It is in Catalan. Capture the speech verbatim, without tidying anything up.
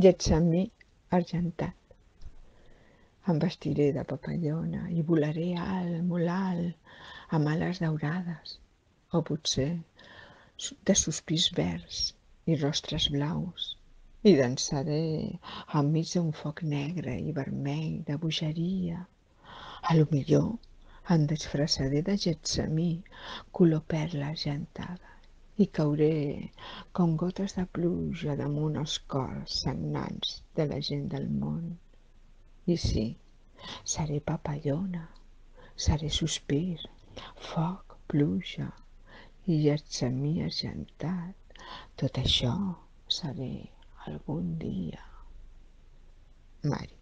Getsemí argentat. Em vestiré de papallona i volaré alt, molt alt, amb ales daurades, o potser de sospirs verds i rostres blaus, i dansaré enmig d'un foc negre i vermell de bogeria. A lo millor em disfressaré de Getsemí, color perla argentada, i cauré com gotes de pluja damunt els cors sagnants de la gent del món. I sí, seré papallona, seré sospir, foc, pluja i Getsemí argentat. Tot això seré algun dia. Mari.